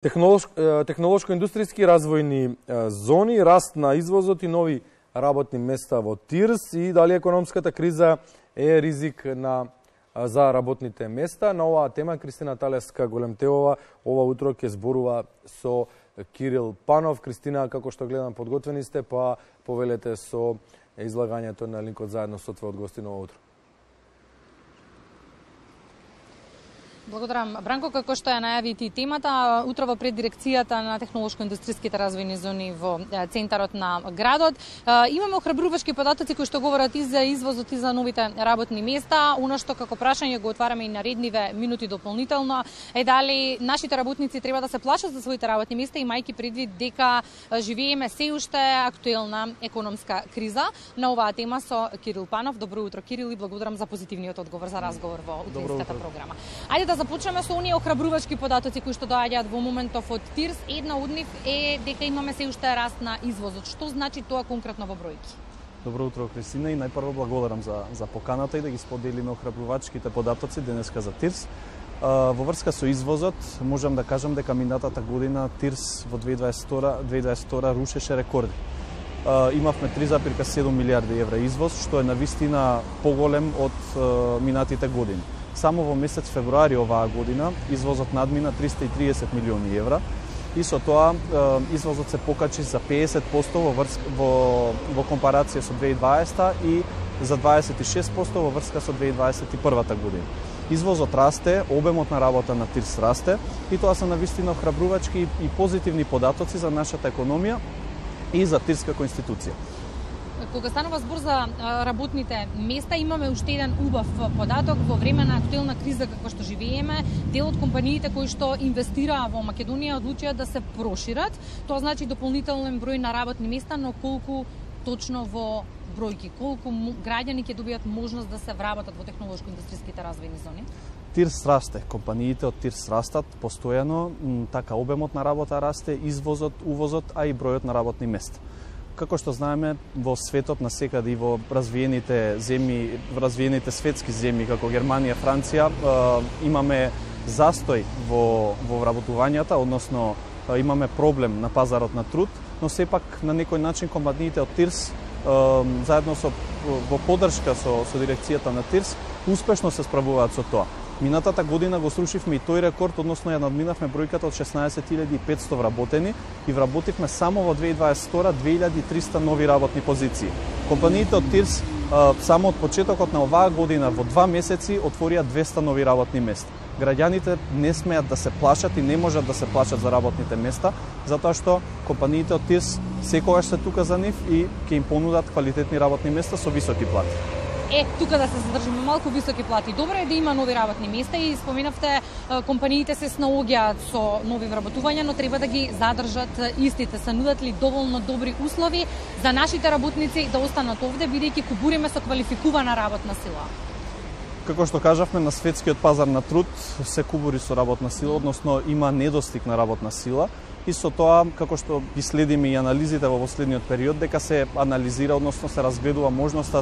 Технолошко-индустријски развојни зони, раст на извозот и нови работни места во ТИРС и дали економската криза е ризик за работните места. На оваа тема Кристина Талеска-Големтевова ова утро ќе зборува со Кирил Панов. Кристина, како што гледам, подготвени сте, па повелете со излагањето на линкот заедно со твојот гостин ова утро. Благодарам, Бранко. Како што ја најави ти темата, утрово пред дирекцијата на технолошко-индустријските развојни зони во центарот на градот, имаме охрабрувачки податоци кои што говорат и за извозот и за новите работни места. Оно што како прашање го отвараме и наредниве минути дополнително е дали нашите работници треба да се плашат за своите работни места, имајќи предвид дека живееме се уште актуелна економска криза. На оваа тема со Кирил Панов. Добро утро, Кирил, и благодарам за позитивниот одговор за разговор во утринската програма. Ајде да започнеме со оние охрабрувачки податоци кои што доаѓаат во моментов од ТИРС. Една од нив е дека имаме се уште раст на извозот. Што значи тоа конкретно во бројки? Добро утро, Кристина, и најпрво благодарам за поканата и да ги споделиме охрабрувачките податоци денеска за ТИРС. Во врска со извозот, можам да кажам дека минатата година ТИРС во 2022 рушеше рекорди. Имавме 3,7 милиарди евра извоз, што е навистина поголем од минатите години. Само во месец февруари оваа година извозот надмина 330 милиони евра и со тоа извозот се покачи за 50% во компарација со 2020 и за 26% во врска со 2021 година. Извозот расте, обемот на работа на ТИРС расте и тоа се навистина охрабрувачки и позитивни податоци за нашата економија и за ТИРС како институција. Кога станува збор за работните места, имаме уште еден убав податок. Во време на актуелна криза како што живееме, дел од компаниите кои што инвестираа во Македонија одлучија да се прошират. Тоа значи дополнителен број на работни места, но колку точно во бројки, колку граѓани ќе добијат можност да се вработат во технолошко-индустријските развојни зони? ТИРС расте, компаниите од ТИРС растат постојано, така обемот на работа расте, извозот, увозот, а и бројот на работни места. Како што знаеме, во светот насекаде и во развиените земји, развиените светски земји како Германија, Франција, имаме застој во вработувањата, односно имаме проблем на пазарот на труд, но сепак на некој начин компаниите од ТИРС заедно во поддршка со дирекцијата на ТИРС успешно се справуваат со тоа. Минатата година го срушивме и тој рекорд, односно ја надминавме бројката од 16.500 вработени и вработивме само во 2022 2300 нови работни позиции. Компаниите од ТИРС само од почетокот на оваа година во 2 месеци отворија 200 нови работни места. Граѓаните не смеат да се плашат и не можат да се плашат за работните места, затоа што компаниите од ТИРС секогаш се тука за нив и ќе им понудат квалитетни работни места со високи плати. Тука да се задржиме малку високи плати. Добро е да има нови работни места и споменавте компаниите се снаоѓаат со нови вработувања, но треба да ги задржат истите. Се нудат ли доволно добри услови за нашите работници да останат овде, бидејќи кубуриме со квалификувана работна сила? Како што кажавме, на светскиот пазар на труд се кубури со работна сила, односно има недостиг на работна сила. И со тоа, како што ги следиме и анализите во последниот период, дека се анализира, односно се разгледува можноста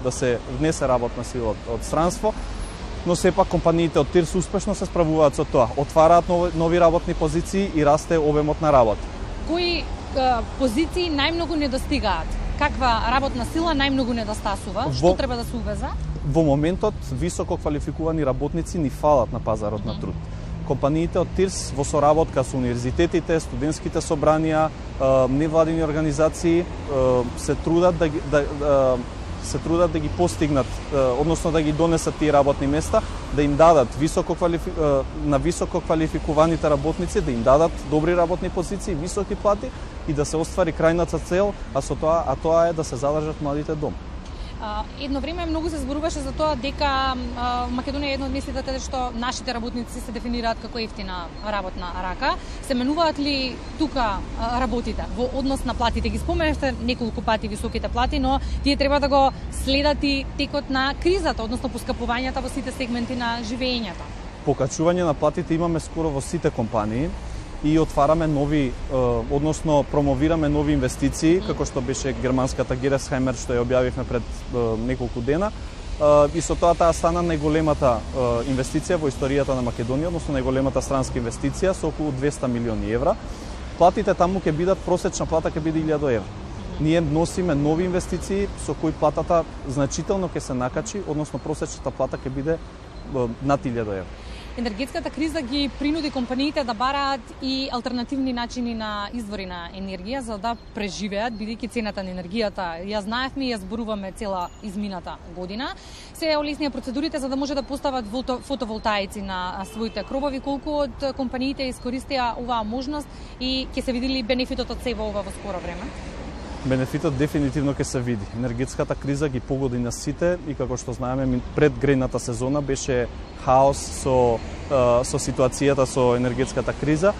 да се внесе работна сила од странство, но сепак компаниите од ТИРС успешно се справуваат со тоа. Отвараат нови работни позиции и расте обемот на работа. Кои позиции најмногу недостигаат? Каква работна сила најмногу недостасува? Што треба да се увеза? Во моментот високо квалификувани работници ни фалат на пазарот на труд. Компаниите од ТИРС во соработка со универзитетите, студентските собранија, невладини организации се трудат да ги постигнат, односно да ги донесат тие работни места, да им дадат на високо квалификуваните работници, да им дадат добри работни позиции, високи плати и да се оствари крајната цел, а тоа е да се задржат младите дома. Едно време многу се зборуваше за тоа дека Македонија е една од местите каде што нашите работници се дефинираат како ефтина работна рака. Се менуваат ли тука работите во однос на платите? Ги споменавте неколку пати високите плати, но тие треба да го следат и текот на кризата, односно поскапувањата во сите сегменти на живеењето. Покачување на платите имаме скоро во сите компании и отвараме нови, односно промовираме нови инвестиции, како што беше германската Gerresheimer што ја објавивме пред неколку дена, и со тоа таа стана најголемата инвестиција во историјата на Македонија, односно најголемата странска инвестиција со околу 200 милиони евра. Платите таму ќе бидат, просечна плата ќе биде 1000 евра. Ние носиме нови инвестиции со кои платата значително ќе се накачи, односно просечната плата ќе биде над 1000 евра. Енергетската криза ги принуди компаниите да бараат и алтернативни начини на извори на енергија за да преживеат, бидејќи цената на енергијата ја знаевме и ја зборуваме цела измината година. Се олеснија процедурите за да може да постават фотоволтаици на своите кровови. Колку од компаниите искористија оваа можност и ќе се види ли бенефитот од себе ова во скоро време? Бенефитот дефинитивно ќе се види. Енергетската криза ги погоди на сите и како што знаеме пред грејната сезона беше хаос со ситуацијата со енергетската криза.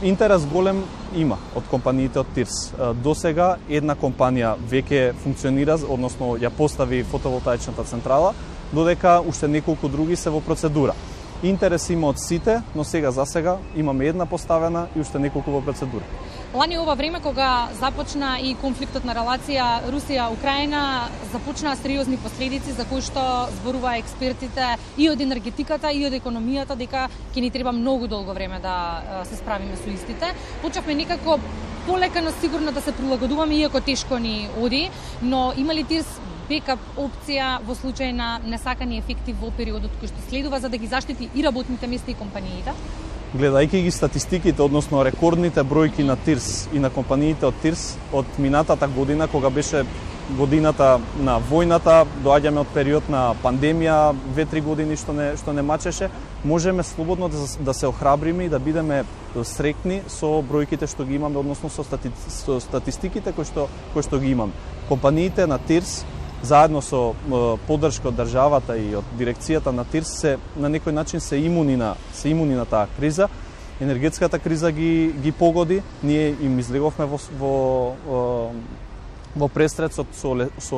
Интерес голем има од компаниите од ТИРС. Досега една компанија веќе функционира, односно ја постави фотоволтаичната централа, додека уште неколку други се во процедура. Интерес има од сите, но за сега имаме една поставена и уште неколку во процедура. Лани ова време кога започна и конфликтот на релација Русија-Украина, започнаа сериозни последици за кои што зборува експертите и од енергетиката и од економијата дека ќе ни треба многу долго време да се справиме со истите. Почнавме некако полека но сигурно да се прилагодуваме, иако тешко ни оди, но има ли ТИРС бекап опција во случај на несакани ефекти во периодот кој што следува за да ги заштити и работните места и компаниите? Гледајќи ги статистиките, односно рекордните бројки на ТИРС и на компаниите од ТИРС од минатата година, кога беше годината на војната, доаѓаме од период на пандемија, 2-3 години што не мачеше, можеме слободно да се охрабриме и да бидеме среќни со бројките што ги имаме, односно со статистиките кои што ги имаме. Компаниите на ТИРС заедно со поддршка од државата и од дирекцијата на ТИРС се на некој начин се имуни на таа криза. Енергетската криза ги погоди, ние им излеговме во престрет со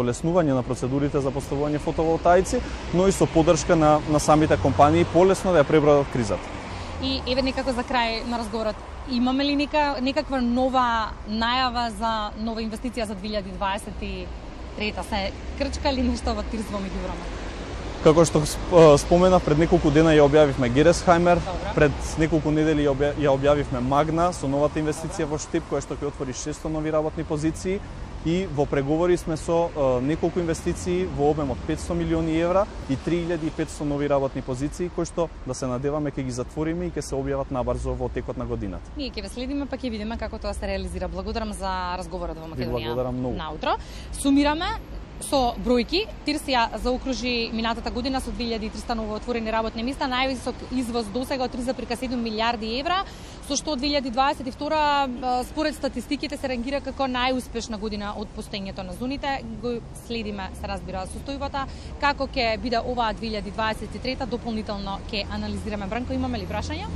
олеснување на процедурите за поставување фотоволтаици, но и со поддршка на самите компании полесно да ја пребродат кризата. И еве некако за крај на разговорот, имаме ли некаква нова најава за нова инвестиција за 2023? Се крчка ли нешто во ТИРС во меѓувреме? Како што споменав, пред неколку дена ја објавивме Гересхаймер, пред неколку недели ја објавивме Магна со новата инвестиција во Штип, која што ќе отвори 600 нови работни позиции и во преговори сме со неколку инвестиции во обем од 500 милиони евра и 3500 нови работни позиции кои што да се надеваме ќе ги затвориме и ќе се објават набрзо во текот на годината. Ние ќе ве следиме па ќе видиме како тоа се реализира. Благодарам за разговорот во Македонија наутро. Сумираме со бројки. ТИРС ја заокружи минатата година со 2300 новоотворени работни места, највисок извоз досега од 3,7 милиарди евра, со што 2022 според статистиките се рангира како најуспешна година од постоењето на зоните. Го следиме, се разбира, состојбата. Како ќе биде оваа 2023 дополнително ќе анализираме. Бранко, имаме ли прашања?